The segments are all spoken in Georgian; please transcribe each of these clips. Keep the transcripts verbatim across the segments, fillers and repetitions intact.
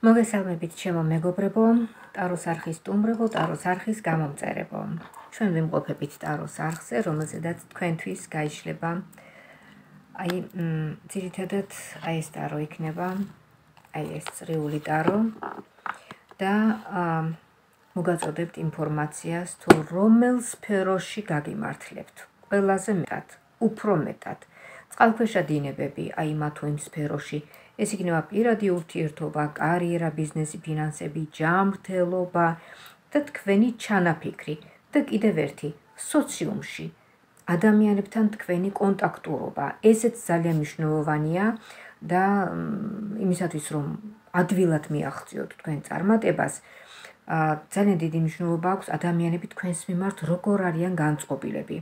მოგესალმებით ჩემო მეგობრებო, ტაროს არხის სტუმრებო, ტაროს არხის გამომწერებო. ჩვენ ვიმყოფებით ტაროს არხზე, რომელზედაც თქვენთვის გაიშლება აი ძირითადად აი ეს ტარო იქნება, აი ეს წრიული ტარო და მოგაწოდებთ ინფორმაციას თუ რომელ სფეროში გაგიმართლებთ. ყველაზე მეტად, უფრო მეტად. წყალქვეშა დინებები აი მათ თუ იმ სფეროში ეს იქნება პირადი ურთიერთობა, კარიერა, ბიზნესი, ფინანსები, ჯანმრთელობა და თქვენი ჩანაფიქრი და კიდევ ერთი სოციუმში ადამიანებთან თქვენი კონტაქტურობა. ესეც ძალიან მნიშვნელოვანია და იმისათვის რომ ადვილად მიაღწიოთ თქვენ წარმატებას, ძალიან დიდი მნიშვნელობა აქვს ადამიანები თქვენს მიმართ როგორ არიან განწყობილები.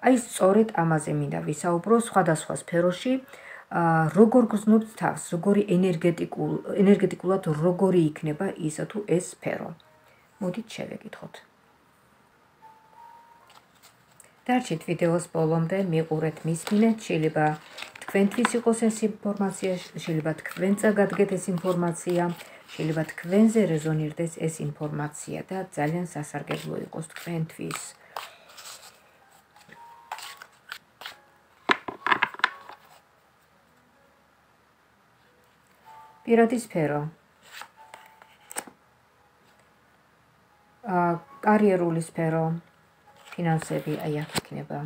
აი სწორედ ამაზე მინდა ვისაუბრო სხვადასხვა სფეროში. როგორ გრძნობთ თავს, როგორი ენერგეტიკულ, ენერგეტიკულად როგორი იქნება ისა თუ ეს სფერო. მოდით შევეკითხოთ. დარჩით ვიდეოს ბოლომდე, მიყურეთ, მისმინეთ, შეიძლება თქვენთვის იყოს ეს ინფორმაცია, შეიძლება თქვენ წაგადგეთ ეს ინფორმაცია, შეიძლება თქვენზე რეზონირდეს ეს ინფორმაცია და ძალიან სასარგებლო იყოს თქვენთვის. პირადი სფერო. კარიერული სფერო, ფინანსები, აი აქ იქნება.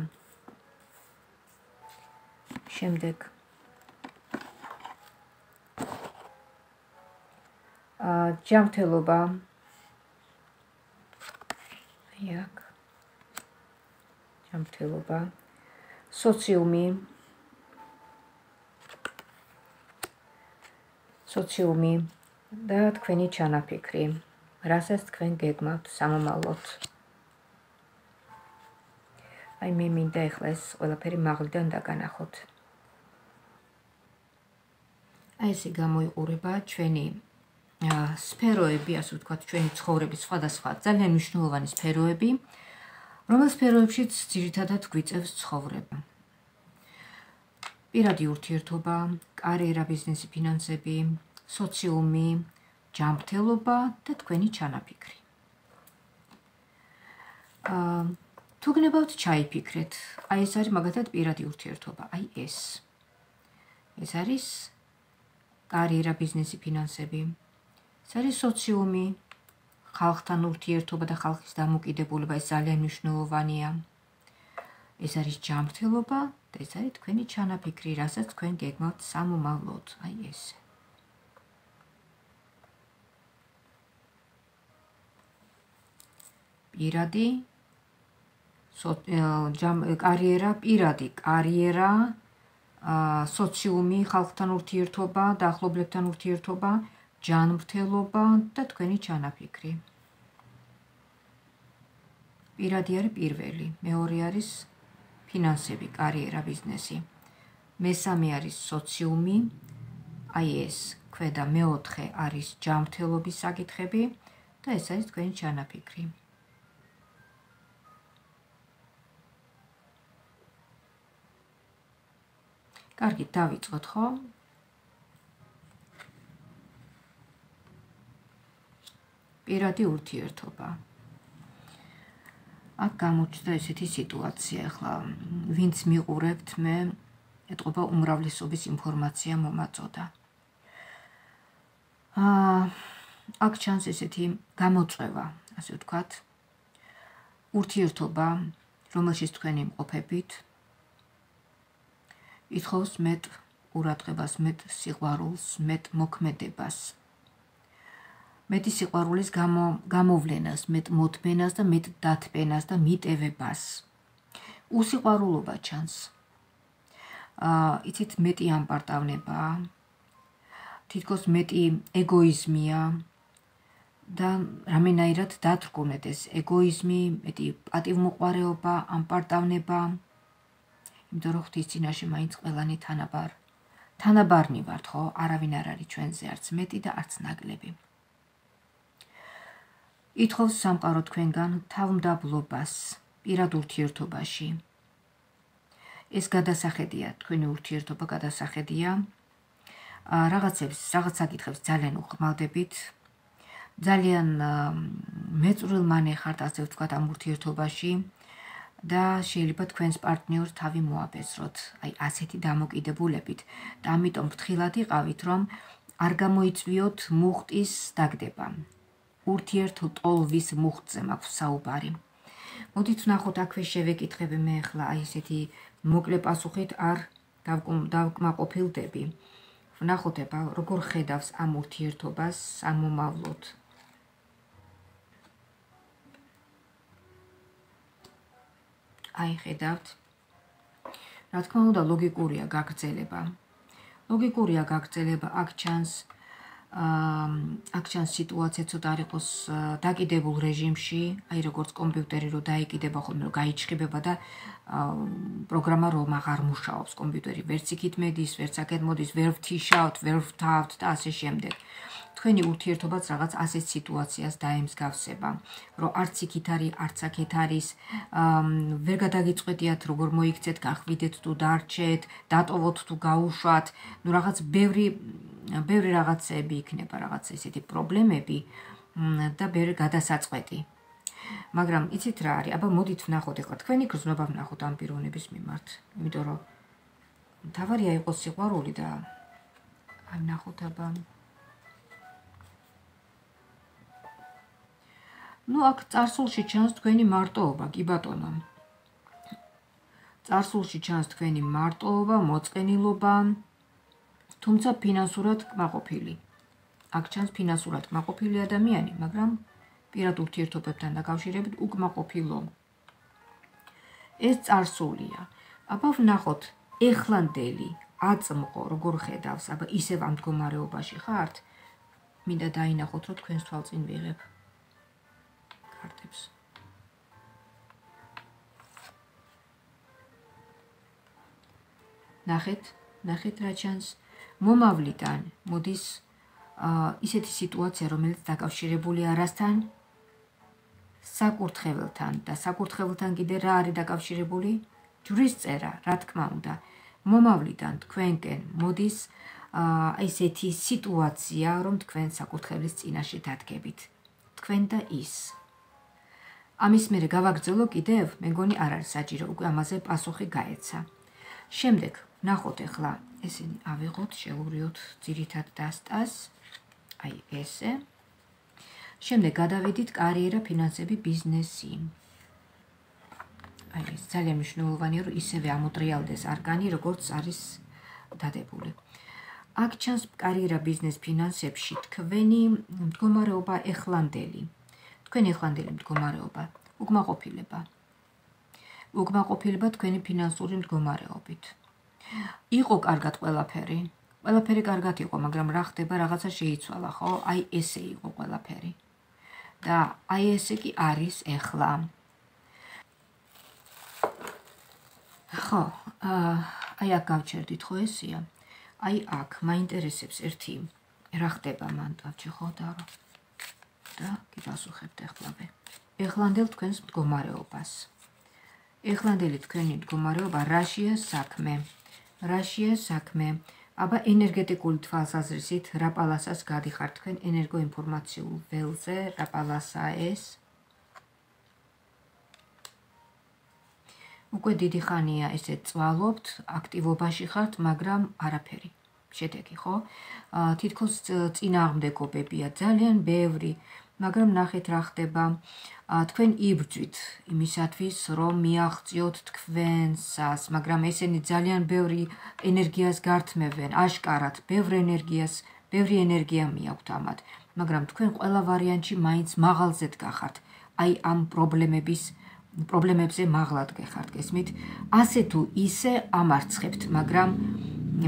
შემდეგ ჯანმრთელობა. აი აქ. ჯანმრთელობა. სოციუმი. სოციუმი და თქვენი ჩანაფიქრი, რასაც თქვენ გეგმავთ სამომავლოდ. აი მე მინდა ეხლა ეს ყველაფერი მაღლიდან დაგანახოთ. აი ესე გამოიყურება ჩვენი სფეროები, ასე ვთქვათ, ჩვენი ცხოვრების სხვადასხვა ძალიან მნიშვნელოვანი სფეროები, რომელ სფეროებშიც ძირითადად გვიწევს ცხოვრება. პირადი ურთიერთობა, კარიერა, ბიზნესი, ფინანსები, სოციუმი, ჯანმრთელობა და თქვენი ჩანაფიქრი. თუ გნებავთ ჩაიფიქრეთ, აი ეს არის მაგათად პირადი ურთიერთობა, აი ეს. ეს არის კარიერა, ბიზნესი, ფინანსები. ეს არის სოციუმი, ხალხთან ურთიერთობა და ხალხის დამოკიდებულება, ეს ძალიან მნიშვნელოვანია. ეს არის ჯანმრთელობა და ეს არის თქვენი ჩანაფიქრი, რასაც თქვენ გეგმავთ სამომავლოდ, აი ესე. პირადი კარიერა, პირადი კარიერა, სოციუმი, ხალხთან ურთიერთობა, დაახლოებლებთან ურთიერთობა, ჯანმრთელობა და თქვენი ჩანაფიქრი. პირადი არის პირველი, მეორე არის ფინანსები, კარიერა, ბიზნესი. მესამე არის სოციუმი, აი ეს, ქვედა მეოთხე არის ჯანმრთელობის საკითხები და ეს არის თქვენი ჩანაფიქრი. კარგი, დავიწყოთ, ხო? პირადი ურთიერთობა. აქ გამოჩნდა ესეთი სიტუაცია, ახლა ვინც მიყურებთ, მე ეტყობა უმრავლესობის ინფორმაცია მომაწოდა. აქ ჩანს ესეთი გამოწვევა, ასე ვთქვათ, ურთიერთობა, რომელშიც თქვენ იმყოფებით, ითხოვს მეტ ყურადღებას, მეტ სიყვარულს, მეტ მოქმედებას. მეტი სიყვარულის გამოვლენას, მეტ მოთმენას და მეტ დათბენას და მიტევებას. უსიყვარულობა ჩანს. იცით, მეტი ამპარტავნება, თითქოს მეტი ეგოიზმია და რამენაირად დათრგუნეთ ეს ეგოიზმი, მეტი პატივმოყვარეობა, ამპარტავნება. იმიტომ რომ ღვთის წინაშე მაინც ყველანი თანაბარ. თანაბარნი ვართ, ხო? არავინ არ არის ჩვენზე არც მეტი და არც ნაკლები. ითხოვს სამყარო თქვენგან თავმდაბლობას პირად ურთიერთობაში. ეს გადასახედია, თქვენი ურთიერთობა გადასახედია რაღაცებს, რაღაც საკითხებს ძალიან უხმალდებით. ძალიან მეწვრილმანი ხართ, ასე ვთქვათ, ამ ურთიერთობაში და შეიძლება თქვენს პარტნიორს თავი მოაბეზროთ, აი ასეთი დამოკიდებულებით და ამიტომ ფრთხილად იყავით, რომ არ გამოიწვიოთ მუხტის დაგდება. ურთიერთტოლვის მუხტზე მაქვს საუბარი. მოდით ვნახოთ, აქვე შევეკითხები მე ახლა აი ესეთი მოკლე პასუხით არ დავკმაყოფილდები. ვნახოთ აბა როგორ ხედავს ამ ურთიერთობას სამომავლოდ. აი ხედავთ. რა თქმა უნდა, ლოგიკურია გაგრძელება. ლოგიკურია გაგრძელება, აქ ჩანს აქ ჩანს სიტუაცია ცოტა არ იყოს დაკიდებულ რეჟიმში, აი როგორც კომპიუტერი რო დაიკიდება ხოლმე, რომ გაიჩხიბება და პროგრამა რომ აღარ მუშაობს კომპიუტერი, ვერც იქით მედის, ვერც აქეთ მოდის, ვერ ვთიშავთ, ვერ ვთავთ და ასე შემდეგ. თქვენი ურთიერთობაც რაღაც ასეთ სიტუაციას დაემსგავსება, რომ არც იქით არის, არც აქეთ არის, ვერ გადაგიწყვეტიათ როგორ მოიქცეთ, გახვიდეთ თუ დარჩეთ, დატოვოთ თუ გაუშვათ, ნუ რაღაც ბევრი ბევრი რაღაცები იქნება, რაღაც ესეთი პრობლემები და ბევრი გადასაწყვეტი. მაგრამ იცით რა არის? აბა მოდით ვნახოთ ახლა თქვენი გრძნობა ვნახოთ ამ პიროვნების მიმართ, იმიტომ რომ თავარია იყოს სიყვარული და აი ვნახოთ აბა ნუ აქ წარსულში ჩანს თქვენი მარტოობა, კი ბატონო. წარსულში ჩანს თქვენი მარტოობა, მოწყენილობა, თუმცა ფინანსურად კმაყოფილი. აქ ჩანს ფინანსურად კმაყოფილი ადამიანი, მაგრამ პირად ურთიერთობებთან დაკავშირებით უკმაყოფილო. ეს წარსულია. აბა ვნახოთ, ეხლანდელი აწმყო როგორ ხედავს, აბა ისევ ამ მდგომარეობაში ხართ? მინდა დაინახოთ, რომ თქვენს თვალწინ ვიღებ კარტებს. ნახეთ, ნახეთ რა ჩანს. მომავლიდან მოდის ისეთი სიტუაცია, რომელიც დაკავშირებულია რასთან? საკურთხეველთან და საკურთხეველთან კიდე რა არის დაკავშირებული? ჯვრის წერა, რა თქმა უნდა. მომავლიდან თქვენკენ მოდის აი ესეთი სიტუაცია, რომ თქვენ საკურთხევლის წინაშე დადგებით. თქვენ და ის. ამის მერე გავაგრძელო კიდევ, მე მგონი არ არის საჭირო, უკვე ამაზე პასუხი გაეცა. შემდეგ ვნახოთ ახლა ესენი ავიღოთ, შევურიოთ ძირითად დასტას, აი ესე. შემდეგ გადავიდით კარიერა, ფინანსები, ბიზნესი. აი ეს ძალიან მნიშვნელოვანია, რომ ისევე ამოტრიალდეს არკანი, როგორც არის დადებული. აქ ჩანს კარიერა, ბიზნეს, ფინანსებში თქვენი მდგომარეობა ეხლანდელი. თქვენი ეხლანდელი მდგომარეობა, უკმაყოფილება. უკმაყოფილება თქვენი ფინანსური მდგომარეობით. იყო კარგად ყველაფერი. ყველაფერი კარგად იყო, მაგრამ რა ხდება, რაღაცა შეიცვალა, ხო? აი ესე იყო ყველაფერი. და აი ესე კი არის ეხლა. ხო, აი აქ გავჩერდით, ხო ესეა? აი აქ მაინტერესებს ერთი რა ხდება მან დავჭი ხო და რა. და გიპასუხებთ ახლავე. ეხლანდელ თქვენს მდგომარეობას. ეხლანდელი თქვენი მდგომარეობა რაშია საქმე? რაშია საქმე? აბა ენერგეტიკული თვალსაზრისით რა პალასას გადიხართ თქვენ ენერგოინფორმაციულ ველზე, რა პალასაა ეს? უკვე დიდი ხანია ესე წვალობთ, აქტივობაში ხართ, მაგრამ არაფერი. შედეგი, ხო? თითქოს წინააღმდეგობებია ძალიან ბევრი, მაგრამ ნახეთ რა ხდება. თქვენ იბრძვით იმისათვის, რომ მიაღწიოთ თქვენსას, მაგრამ ესენი ძალიან ბევრი ენერგიას გართმევენ, აშკარად, ბევრ ენერგიას, ბევრი ენერგია მიაქვთ ამათ, მაგრამ თქვენ ყველა ვარიანტში მაინც მაღალზე დგახართ. აი ამ პრობლემების პრობლემებზე მაღლად გეხართ, გესმით? ასე თუ ისე ამარცხებთ, მაგრამ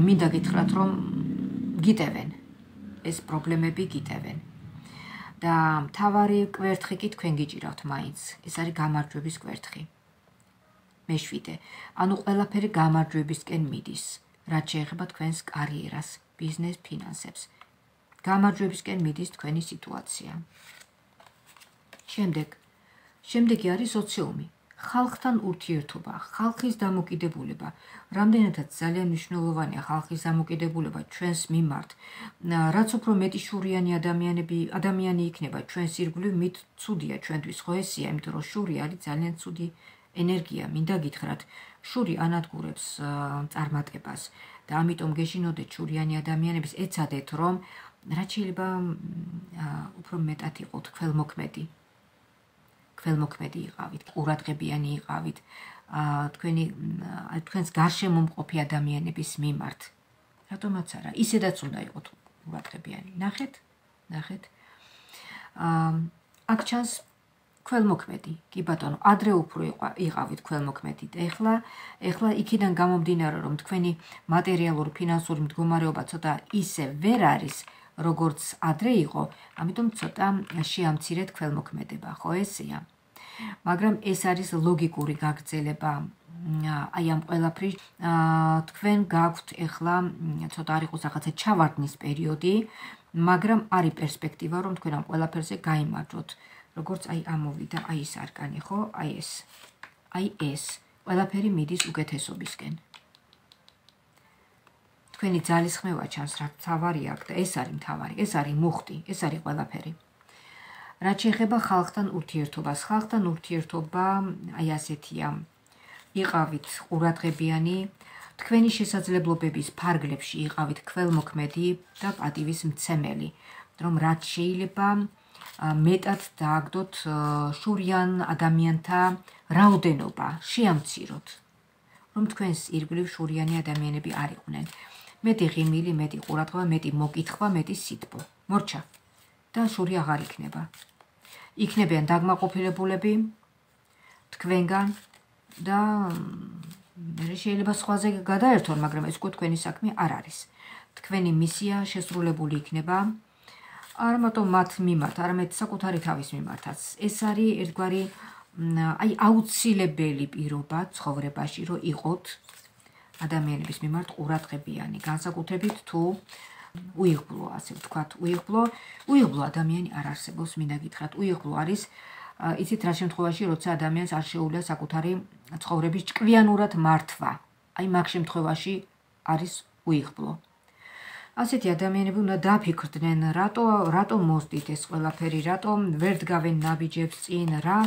მინდა გითხრათ, რომ გიტევენ. ეს პრობლემები გიტევენ. და მთავარი კვერთხი კი თქვენ გიჭირავთ მაინც. ეს არის გამარჯვების კვერთხი. მეშვიდე. ანუ ყველაფერი გამარჯვებისკენ მიდის, რაც შეეხება თქვენს კარიერას, ბიზნეს, ფინანსებს. გამარჯვებისკენ მიდის თქვენი სიტუაცია. შემდეგ. შემდეგი არის სოციუმი. ხალხთან ურთიერთობა, ხალხის დამოკიდებულება, რამდენადაც ძალიან მნიშვნელოვანია ხალხის დამოკიდებულება ჩვენს მიმართ, რაც უფრო მეტი შურიანი ადამიანები, ადამიანი იქნება ჩვენს ირგვლივ, მით ცუდია ჩვენთვის, ხო ესია, იმიტომ რომ შური არის ძალიან ცუდი ენერგია, მინდა გითხრათ, შური ანადგურებს წარმატებას და ამიტომ გეშინოდეთ შურიანი ადამიანების, ეცადეთ რომ რაც შეიძლება უფრო მეტად იყოთ ქველმოქმედი. ქველმოქმედი იყავით, ყურადღებიანი იყავით, თქვენი თქვენს გარშემო მყოფი ადამიანების მიმართ. რატომაც არა, ისედაც უნდა იყოთ ყურადღებიანი. ნახეთ, ნახეთ. აქ ჩანს ქველმოქმედი, კი ბატონო, ადრე უფრო იყავით ქველმოქმედი და ეხლა, ეხლა იქიდან გამომდინარე, რომ თქვენი მატერიალური, ფინანსური მდგომარეობა ცოტა ისე ვერ არის, როგორც ადრე იყო, ამიტომ ცოტა შეამცირეთ ქველმოქმედება, ხო ესეა? მაგრამ ეს არის ლოგიკური გაგრძელება აი ამ ყველაფრის. თქვენ გაქვთ ეხლა ცოტა არ იყოს რაღაცა ჩავარდნის პერიოდი, მაგრამ არის პერსპექტივა, რომ თქვენ ამ ყველაფერზე გაიმარჯვოთ. როგორც აი ამოვიდა აი ეს არკანი, ხო? აი ეს. აი ეს. ყველაფერი მიდის უკეთესობისკენ. თქვენი ძალისხმევა ჩანს, რა მთავარი აქვს და ეს არის მთავარი, ეს არის მუხტი, ეს არის ყველაფერი. რაც შეეხება ხალხთან ურთიერთობას, ხალხთან ურთიერთობა აი ასეთია. იყავით ყურადღებიანი, თქვენი შესაძლებლობების ფარგლებში იყავით ქველმოქმედი და პატივის მცემელი, რომ რაც შეიძლება მეტად დააგდოთ შურიან ადამიანთა რაოდენობა, შეამციროთ, რომ თქვენს ირგვლივ შურიანი ადამიანები არ იყვნენ. მეტი ღიმილი, მეტი ყურადღება, მეტი მოკითხვა, მეტი სიტყვა. მორჩა და შური აღარ იქნება. იქნებიან დაგმაყოფილებულები თქვენგან და მე შეიძლება სხვაზე გადაერთონ, მაგრამ ეს უკვე თქვენი საქმე არ არის. თქვენი მისია შესრულებული იქნება არა მარტო მათ მიმართ, არამედ საკუთარი თავის მიმართაც. ეს არის ერთგვარი აი აუცილებელი პირობა ცხოვრებაში, რომ იყოთ ადამიანების მიმართ ყურადღებიანი, განსაკუთრებით თუ უიღბლო, ასე ვთქვათ, უიღბლო, უიღბლო ადამიანი არ არსებობს, მინდა გითხრათ, უიღბლო არის, იცით რა შემთხვევაში, როცა ადამიანს არ შეუძლია საკუთარი ცხოვრების ჭკვიანურად მართვა. აი მაგ შემთხვევაში არის უიღბლო. ასეთი ადამიანები უნდა დაფიქრდნენ, რატო რატო მოსდით ეს ყველაფერი, რატო ვერ დგავენ ნაბიჯებს წინ, რა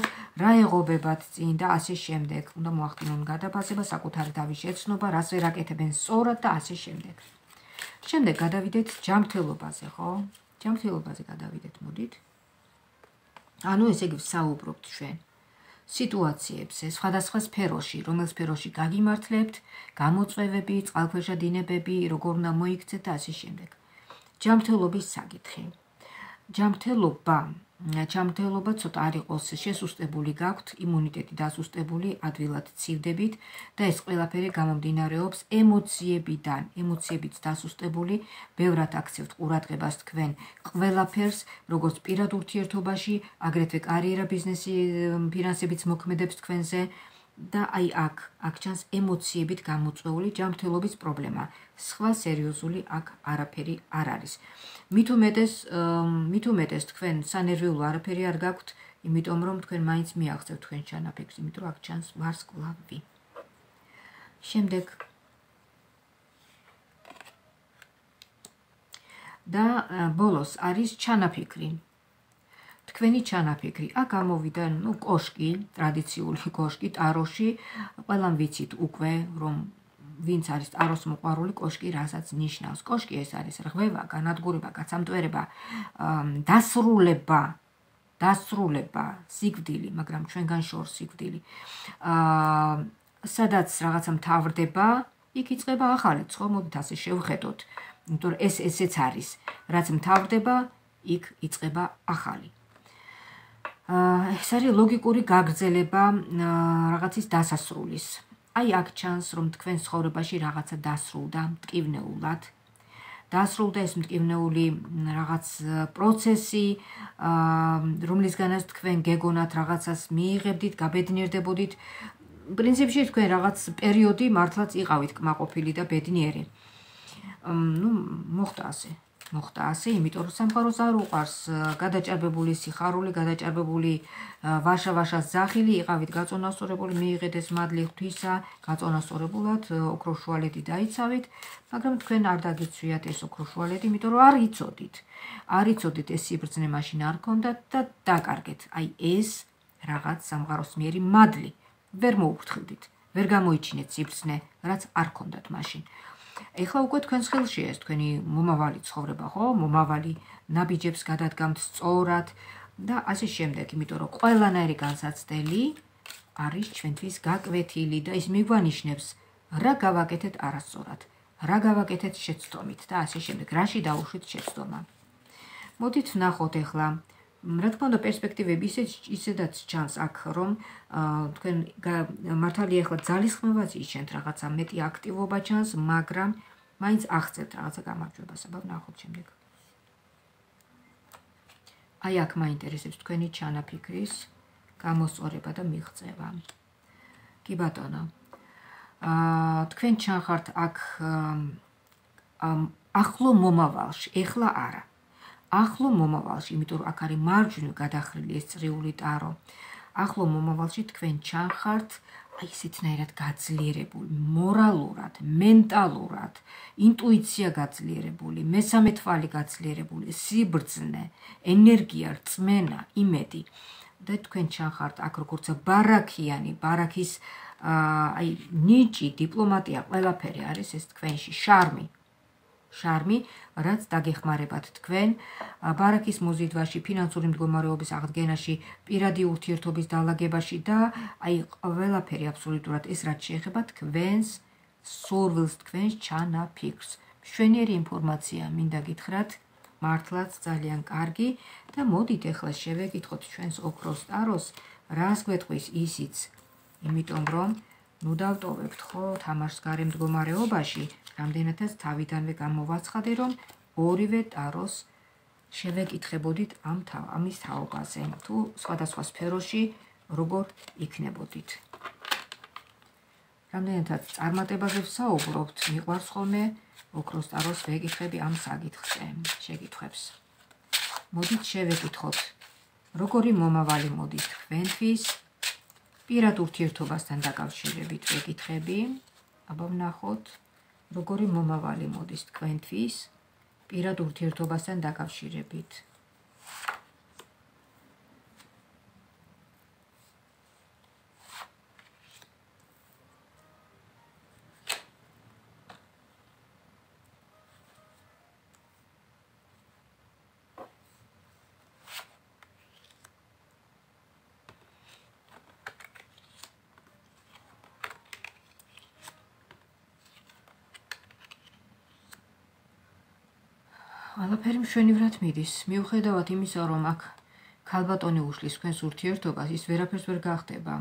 რა ეღობებათ წინ და ასე შემდეგ. უნდა მოახდინონ გადაფასება, საკუთარი თავის შეცნობა, რას ვერ აკეთებენ სწორად და ასე შემდეგ. შემდეგ გადავიდეთ ჯანმრთელობაზე, ხო? ჯანმრთელობაზე გადავიდეთ, მოდით. ანუ ესე იგი ვსაუბრობთ ჩვენ სიტუაციებზე, სხვადასხვა სფეროში, რომელ სფეროში გაგიმართლებთ, გამოწვევები, წყალქვეშა დინებები, როგორ უნდა მოიქცეთ და ასე შემდეგ. ჯანმრთელობის საკითხი. ჯანმრთელობა, ჯანმრთელობა ცოტა არ იყოს შესუსტებული გაქვთ, იმუნიტეტი დასუსტებული, ადვილად ცივდებით და ეს ყველაფერი გამომდინარეობს ემოციებიდან, ემოციებით დასუსტებული, ბევრად აქცევთ ყურადღებას თქვენ ყველაფერს, როგორც პირად ურთიერთობაში, აგრეთვე კარიერა, ბიზნესი, ფინანსებიც მოქმედებს თქვენზე და აი აქ, აქ ჩანს ემოციებით გამოწვეული ჯანმრთელობის პრობლემა. სხვა სერიოზული აქ არაფერი არ არის. მით უმეტეს, მით უმეტეს თქვენ სანერვიულო არაფერი არ გაქვთ, იმიტომ რომ თქვენ მაინც მიაღწევთ თქვენ ჩანაფიქრს, იმიტომ რომ აქ ჩანს ვარსკვლავი. შემდეგ და ბოლოს არის ჩანაფიქრი. თქვენი ჩანაფიქრი. აქ გამოვიდა, ნუ კოშკი, ტრადიციული კოშკი ტაროში, ყველამ ვიცით უკვე, რომ ვინც არის ტაროს მოყვარული, კოშკი რასაც ნიშნავს. კოშკი ეს არის რღვევა, განადგურება, გაცამტვერება, დასრულება, დასრულება, სიკვდილი, მაგრამ ჩვენგან შორს სიკვდილი. სადაც რაღაცა მთავრდება, იქ იწყება ახალიც, ხო, მოდით ასე შევხედოთ. იმიტომ რომ ეს ესეც არის, რაც მთავრდება, იქ იწყება ახალი. ეს არის ლოგიკური გაგრძელება რაღაცის დასასრულის. აი აქ ჩანს, რომ თქვენ ცხოვრებაში რაღაცა დასრულდა მტკივნეულად. დასრულდა ეს მტკივნეული რაღაც პროცესი, რომლისგანაც თქვენ გეგონათ რაღაცას მიიღებდით, გაბედნიერდებოდით. პრინციპში თქვენ რაღაც პერიოდი მართლაც იყავით კმაყოფილი და ბედნიერი. ნუ მოხდა ასე. მოხდა ასე, იმიტომ რომ სამყაროს არ უყარს გადაჭარბებული სიხარული, გადაჭარბებული ვაშა-ვაშას ზახილი, იყავით გაწონასწორებული, მიიღეთ ეს მადლი ღვთისა, გაწონასწორებულად ოქროს შუალედი დაიცავით, მაგრამ თქვენ არ დაგიცვიათ ეს ოქროს შუალედი, იმიტომ რომ არ იცოდით. არ იცოდით ეს სიბრძნე მაშინ არ ქონდათ და დაკარგეთ. აი ეს რაღაც სამყაროს მიერი მადლი. ვერ მოუფრთხილდით, ვერ გამოიჩინეთ სიბრძნე, რაც არ ქონდათ მაშინ. ეხლა უკვე თქვენს ხელშია ეს თქვენი მომავალი ცხოვრება, ხო? მომავალი ნაბიჯებს გადადგამთ სწორად და ასე შემდეგ, იმიტომ რომ ყველანაირი განსაცდელი არის ჩვენთვის გაკვეთილი და ის მიგვანიშნებს, რა გავაკეთეთ არასწორად, რა გავაკეთეთ შეცდომით და ასე შემდეგ, რაში დაუშვით შეცდომა. მოდით ვნახოთ ეხლა, რა თქმა უნდა პერსპექტივები ისედაც ჩანს აქ, რომ თქვენ მართალია ეხლა ძალისხმევაც იჩენთ, რაღაცა მეტი აქტივობა ჩანს, მაგრამ მაინც აღწევთ რაღაცა გამარჯვებას, აბა ვნახოთ შემდეგ. აი აქ მაინტერესებს თქვენი ჩანაფიქრის გამოსწორება და მიღწევა. კი ბატონო, თქვენ ჩანხართ აქ ახლო მომავალში, ეხლა არა. ახლო მომავალში, იმიტომ რომ აქ არის მარჯვნივ გადახრილი ეს წრიული ტარო. ახლო მომავალში თქვენ ჩანხართ აი ისეთნაირად გაძლიერებული, მორალურად, მენტალურად, ინტუიცია გაძლიერებული, მესამე თვალი გაძლიერებული, სიბრძნე, ენერგია, რწმენა, იმედი. და თქვენ ჩანხართ აქ როგორც ბარაქიანი, ბარაქის აი ნიჭი, დიპლომატია, ყველაფერი არის ეს თქვენში, შარმი. შარმი, რაც დაგეხმარებათ თქვენ ბარაქის მოზიდვაში, ფინანსური მდგომარეობის აღდგენაში, პირადი ურთიერთობის დალაგებაში და აი ყველაფერი აბსოლუტურად ეს რაც შეეხება თქვენს სურვილს, თქვენს ჩანაფიქრს. მშვენიერი ინფორმაცია მინდა გითხრათ, მართლაც ძალიან კარგი და მოდით ეხლა შევეკითხოთ ჩვენს ოქროს ტაროს, რას გვეტყვის ისიც, იმიტომ რომ ნუ დავტოვებთ ხო თამაშს გარე მდგომარეობაში, რამდენადაც თავიდანვე გამოვაცხადე, რომ ორივე ტაროს შევეკითხებოდით ამ ამის თაობაზე, თუ სხვადასხვა სფეროში როგორ იქნებოდით. რამდენადაც წარმატებაზე ვსაუბრობთ, მიყვარს ხოლმე ოქროს ტაროს ვეკითხები ამ საკითხზე, შეკითხვებს. მოდით შევეკითხოთ, როგორი მომავალი მოდის თქვენთვის, პირად ურთიერთობასთან დაკავშირებით ვეკითხები, აბა ვნახოთ, როგორი მომავალი მოდის თქვენთვის, პირად ურთიერთობასთან დაკავშირებით. ყველაფერი მშვენივრად მიდის. მიუხედავად იმისა, რომ აქ ქალბატონი უშლის თქვენს ურთიერთობას, ის ვერაფერს ვერ გახდება,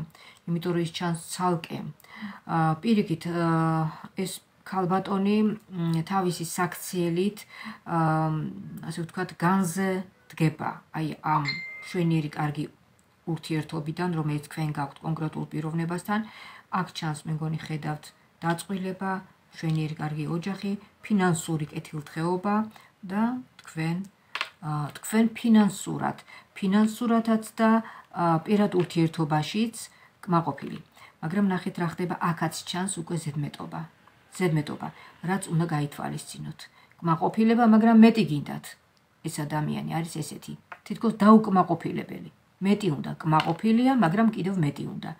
იმიტომ რომ ის ჩანს ცალკე. პირიქით, ეს ქალბატონი თავისი საქციელით, ასე ვთქვათ, განზე დგება, აი ამ მშვენიერი კარგი ურთიერთობიდან, რომელიც თქვენ გაქვთ კონკრეტულ პიროვნებასთან, აქ ჩანს, მე მგონი ხედავთ, დაწყვილება, მშვენიერი კარგი ოჯახი, ფინანსური კეთილდღეობა და თქვენ თქვენ ფინანსურად, ფინანსურადაც და პირად ურთიერთობაშიც კმაყოფილი. მაგრამ ნახეთ რა ხდება, აქაც ჩანს უკვე ზედმეტობა. ზედმეტობა, რაც უნდა გაითვალისწინოთ. კმაყოფილება, მაგრამ მეტი გინდათ. ეს ადამიანი არის ესეთი, თითქოს დაუკმაყოფილებელი. მეტი უნდა, კმაყოფილია, მაგრამ კიდევ მეტი უნდა.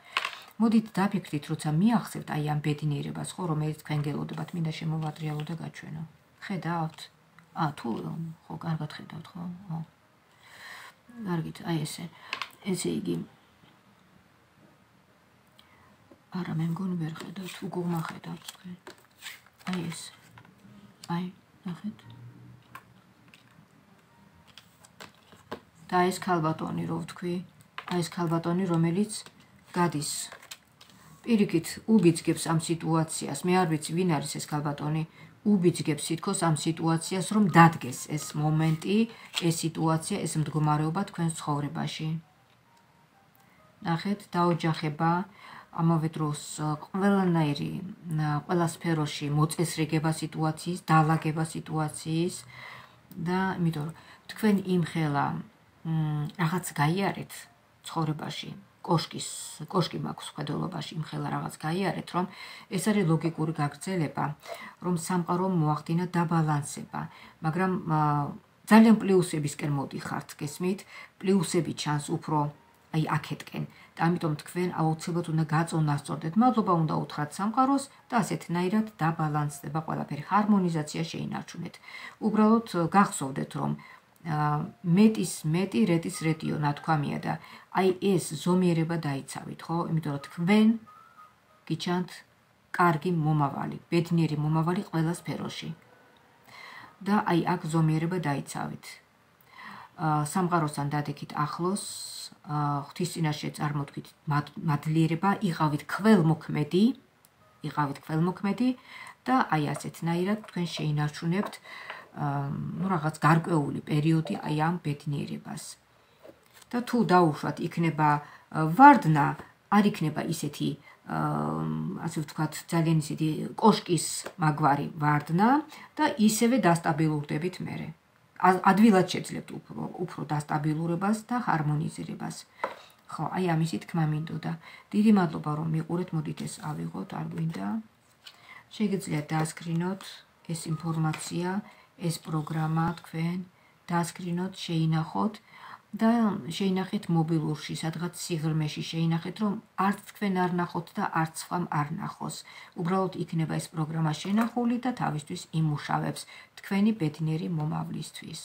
მოდით დაფიქრდით, როცა მიახსევთ აი ამ ბედნიერებას, ხო, რომელიც თქვენ გელოდებათ, მინდა შემოვატრიალო და გაჩვენო. ხედავთ? ა თუ ხო, კარგად ხედავთ, ხო? ხო. კარგით, აი ესე. ესე იგი არა, მე მგონი ვერ ხედავთ, უგუღმა ხედავთ თქვენ. აი ეს. აი, ნახეთ. და ეს ქალბატონი, რო ვთქვი, აი ეს ქალბატონი, რომელიც გადის. პირიქით, უბიძგებს ამ სიტუაციას. მე არ ვიცი, ვინ არის ეს ქალბატონი. უბიძგებს თითქოს ამ სიტუაციას, რომ დადგეს ეს მომენტი, ეს სიტუაცია, ეს მდგომარეობა თქვენს ცხოვრებაში. ნახეთ, დაოჯახება, ამავე დროს ყველანაირი, ყველა სფეროში მოწესრიგება სიტუაციის, დალაგება სიტუაციის, და იმიტომ რომ თქვენ იმხელა რაღაც გაიარეთ ცხოვრებაში, კოშკის, კოშკი მაქვს ხედველობაში იმხელა რაღაც გაიარეთ, რომ ეს არის ლოგიკური გაგრძელება, რომ სამყარომ მოახდინა დაბალანსება, მაგრამ ძალიან პლუსებისკენ მოდიხართ, გესმით? პლუსები ჩანს უფრო აი აქეთკენ. და ამიტომ თქვენ აუცილებლად უნდა გაწონასწორდეთ. მადლობა უნდა უთხრათ სამყაროს და ასეთნაირად დაბალანსდება ყველაფერი, ჰარმონიზაცია შეინარჩუნეთ. უბრალოდ გახსოვდეთ, რომ მეტის მეტი რეტის რეტიო ნათქვამია და აი ეს ზომიერება დაიცავით, ხო? იმიტომ რომ თქვენ გიჩანთ კარგი მომავალი, ბედნიერი მომავალი ყველა სფეროში. და აი აქ ზომიერება დაიცავით. სამყაროსთან დადექით ახლოს, ღვთის წინაშე წარმოთქვით მადლიერება, იყავით ქველმოქმედი, იყავით ქველმოქმედი და აი ასეთნაირად თქვენ შეინარჩუნებთ ну რაღაც გარკვეული პერიოდი აი ამ ბედნიერებას. და თუ დაუშვათ იქნება ვარდნა, არ იქნება ისეთი ასე ვთქვათ, ძალიან ისეთი კოშკის მაგვარი ვარდნა და ისევე დასტაბილურდებით მერე. ადვილად შეძლებთ უფრო, უფრო დასტაბილურებას და ჰარმონიზირებას. ხო, აი ამისი თქმა მინდოდა. დიდი მადლობა რომ მიყურეთ, მოდით ეს ავიღოთ, არ გვინდა. შეგიძლიათ დაასკრინოთ ეს ინფორმაცია, ეს პროგრამა თქვენ, დაასკრინოთ, შეინახოთ და შეინახეთ მობილურში, სადღაც სიღრმეში შეინახეთ, რომ არც თქვენ არ ნახოთ და არც სხვამ არ ნახოს. უბრალოდ იქნება ეს პროგრამა შენახული და თავისთვის იმუშავებს თქვენი ბედნიერი მომავლისთვის.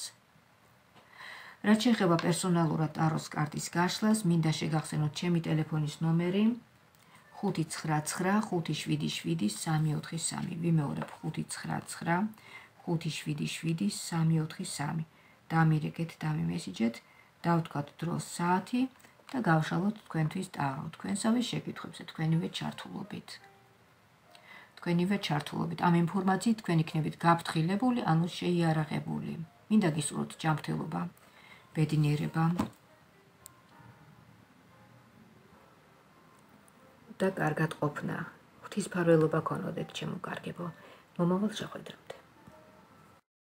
რაც შეეხება პერსონალურად ტაროს კარტის გაშლას, მინდა შეგახსენოთ ჩემი ტელეფონის ნომერი ხუთი ცხრა ცხრა ხუთი შვიდი შვიდი სამი ოთხი სამი. ვიმეორებ ხუთი ცხრა ცხრა ხუთი შვიდი შვიდი სამი ოთხი სამი. დამირეკეთ, დამიმესიჯეთ, დავთქვათ დროს საათი და გავშალოთ თქვენთვის ტარო, თქვენსავე შეკითხვებზე, თქვენივე ჩართულობით. თქვენივე ჩართულობით. ამ ინფორმაციით თქვენ იქნებით გაფრთხილებული, ანუ შეიარაღებული. მინდა გისურვოთ ჯანმრთელობა, ბედნიერება და კარგად ყოფნა. ღვთისმფარველობა გქონოდეთ, ჩემო კარგებო. მომავალ შეხვედრამდე.